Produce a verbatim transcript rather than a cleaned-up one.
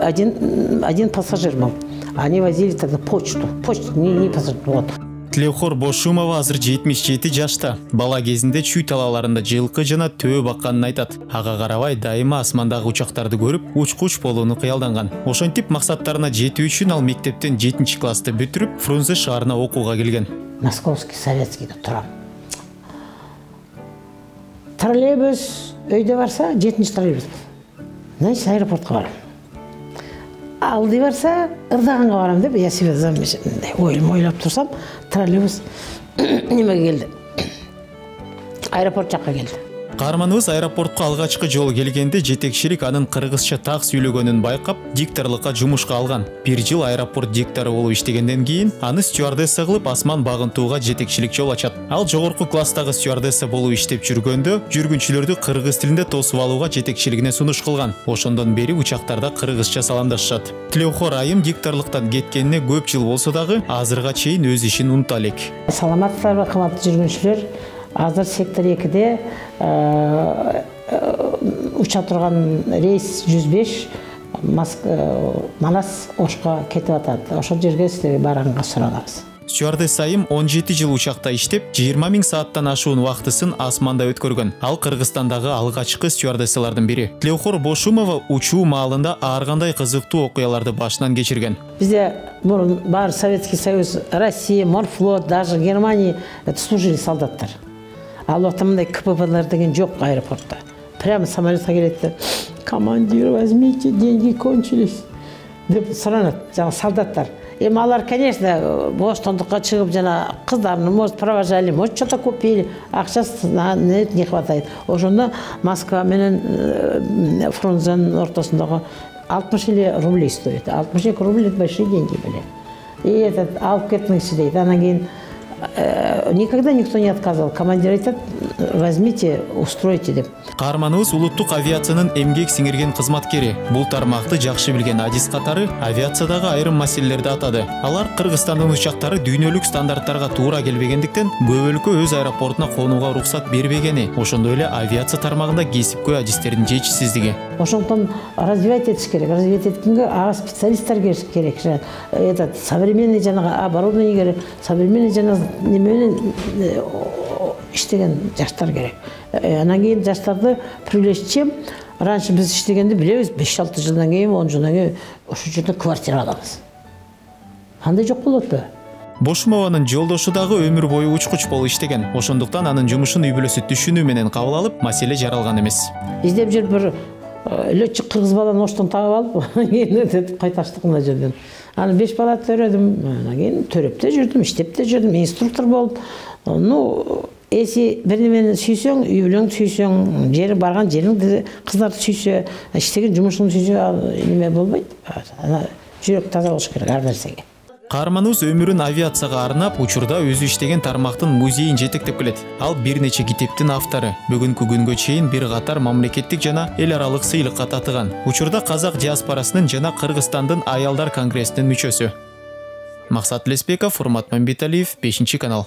один, один пассажир был. Они возили тогда почту. Почту, не, не пассажир, вот. Тилеухор Бошумова азыр жетимиш жети жашта. Бала кезинде чүй талаларында жылкы жана төө бакканын айтат. Ага карабай дайыма асмандагы учактарды көрүп, уч-куч болууну кыялданган. Ошентип максаттарына жетүү үчүн ал мектептен жетинчи классты бүтүрүп, Фрунзе шаарына окууга келген. Московский, Советскийде турам. Троллейбус өйдө барса, жетинчи троллейбус. Значит, аэропортко барам. Алды барса, ырдаганга барам деп, я себе ойлом ойлоп турсам, троллейбус немеге келди. Аэропорт жакка келди. Каарманыбыз аэропортко алгачкы жолу келгенде жетекчилик анын кыргызча так сүйлөгөнүн байкап, дикторлукка жумушка алган. Бир жыл аэропорт диктору болуп иштегенден кийин аны стюардесса кылып асман багынтууга жетекчилик жол ачат. Ал жогорку класстагы стюардесса болуп иштеп жүргөндө жүргүнчүлөрдү кыргыз тилинде тосуп алууга жетекчилигине сунуш кылган. Ошондон бери учактарда кыргызча саламдашышат. Тилеухор айым дикторлуктан кеткенине көп жыл болсо дагы азырга чейин өз ишин унута элек. Саламатсыздарбы, кымбаттуу жүргүнчүлөр? Азыр сектор экиде уча турган рейс жүз беш Манас Ошко кетип атат. Ошол жерге силерге барганга суралабыз. Стюардесса айым он жети жыл учакта иштеп, жыйырма миң сааттан ашуун убактысын асманда өткөргөн. Ал Кыргызстандагы алгачкы стюардессалардын бири. Тилеухор Бошумова учуу маалында ар кандай кызыктуу окуяларды башынан кечирген. Бизде мурун бар Советский Союз, Россия, Морфлот, даже Германия служили солдаттар. Ал убакта мындай ка пэ пэ-лер деген жок аэропортто. Прямо самолетке келет. Командир, возьмите, деньги кончились. Деп суранат жана солдаттар. Эми алар, конечно, боштондукка чыгып жана кыздарын может провожали, может что-то купили, акчасы не хватает. Ошондо Москва менен Фрунзенин ортосундагы алтымыш эле рублей стоит. алтымыш эки рубль это большие деньги были. И этот алып кетиңизчи дейт. Анан кийин никогда никто не отказывал. Командир айтат, возьмите, устройте деп. Каарманыбыз улуттук авиациянын эмгек сиңирген кызматкери. Бул тармакты жакшы билген Адис катары авиациядагы айрым маселелерди атады. Алар Кыргызстандын учактары дүйнөлүк стандарттарга туура келбегендиктен көп өлкө өз аэропортуна конууга уруксат бербегени, ошондой эле авиация тармагында кесипкөй адистердин жетишсиздиги. Ошондон развивать этиш керек. Развивать эткенге ага специалисттер керек. Этот современный жанагы оборудование керек, современный жанагы неменен иштеген жаштар керек. Анан кийин жаштарды привлечь чем? Раньше биз иштегенди билебиз, беш алты жылдан кийин, он жылдан кийин ошол жерде квартира алабыз. Кандай жок болот? Бошумованын жолдошу дагы өмүр бою учкуч болуп иштеген. Ошондуктан анын жумушун үй бүлөсү түшүнүү менен кабыл алып, маселе жаралган эмес. Издеп жүрүп бир летчик кыргыз баланы оштон таап алып, кийин кайташтык мына жерден. Аны беш бала төрөдүм, анан кийин төрөп да жүрдүм, иштеп да жүрдүм, инструктор болуп. Ну, эси бир немени сүйсөң, үй бүлөңдү сүйсөң, жери барган жериңди, кыздарды сүйсө, иштеген жумушуңду сүйсө, неме болбойт. Ана жүрөк таза болуш керек ар нерсеге. Каарманыбыз өмүрүн авиацияга арнап, учурда өзү иштеген тармактын музейин жетектеп келет. Ал бир нече китептин автору. Бүгүнкү күнгө чейин бир катар мамлекеттик жана эл аралык сыйлыкка татыган. Учурда казак диаспорасынын жана Кыргызстандын аялдар конгрессинин мүчөсү. Максат Леспеков, Урмат Мамбеталиев, бешинчи канал.